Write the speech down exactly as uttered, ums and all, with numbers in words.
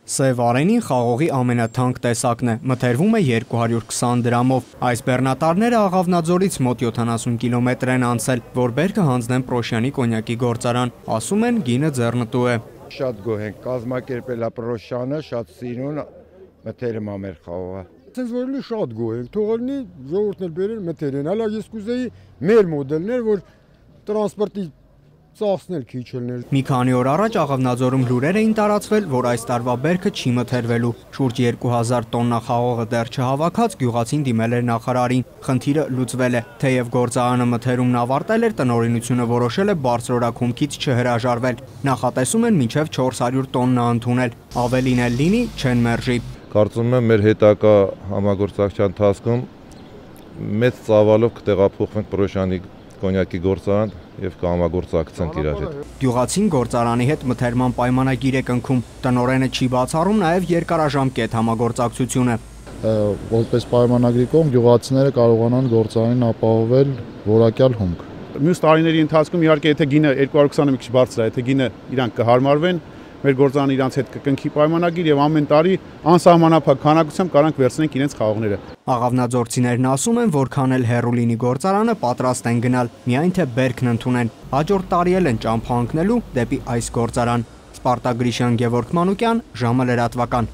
Սև արենին խաղողի ամենաթանկ տեսակն է, մթերվում է երկու հարյուր քսան դրամով։ Այս բեռնատարները Աղավնաձորից մոտ յոթանասուն կիլոմետր են անցել, որ բերքը հանձնեն Պրոշյանի կոնյակի գործարան, ասում են գինը ձեռնտու է։ Շատ գոհ ենք, կազմակերպել է Պրոշյանը, շատ սիրուն, մթերում է մեր խաղողը։ Ցենց որ լի շատ գոհ ենք, թողնի ժողովուրդն էլ բերեն մթերեն, հələ ես կուզեի մեր մոդելներ, որ տրանսպորտի ծախսն էլ քիչ ելներ։ Մի քանի օր առաջ Աղավնաձորում լուրեր էին տարածվել, որ այս տարվա բերքը չի մթերվելու։ Շուրջ երկու հազար տոննա խաղողը դեռ չհավաքած գյուղացին դիմել էր նախարարին։ Խնդիրը լուծվել է, թեև գործարանը մթերումն ավարտել էր, տնօրինությունը որոշել է բարձրորակ չհրաժարվել։ Նախատեսում են մինչև չորս հարյուր տոննա ընդունել, ավելին էլ լինի չեն մերժի։ Կարծում եմ մեր հետագա համագործակցության ընթացքում մեծ ծավալով կտեղափոխվենք Պրոշյանի կոնյակի գործարան եւ կհամագործակցենք իրար հետ։ Գյուղացին գործարանի հետ մթերման պայմանագիր է կնքում, տնօրենը չի բացառում նաեւ երկարաժամկետ համագործակցությունը։ Որպես պայմանագրի կողմ գյուղացիները կարողանան գործարանին ապահովել որակյալ հումք։ Մյուս տարիների ընթացքում իհարկե եթե գինը երկու հարյուր քսանը մի քիչ բարձր է, եթե գինը իրանք կհարմարվեն, մեր գործարանը իրանց հետ կկնքի պայմանագիր եւ ամեն տարի անսահմանափակ քանակությամբ կարանք վերցնենք իրենց խաղողները։ Աղավնաձորցիներն ասում են, որքան էլ հեռու լինի գործարանը, պատրաստ են գնալ, միայն թե բերքն ընդունեն։ Հաջորդ տարի էլ են ճամփա ընկնելու դեպի այս գործարան։ Սպարտակ Գրիշյան, Գևորգ Մանուկյան, ժամը լրատվական։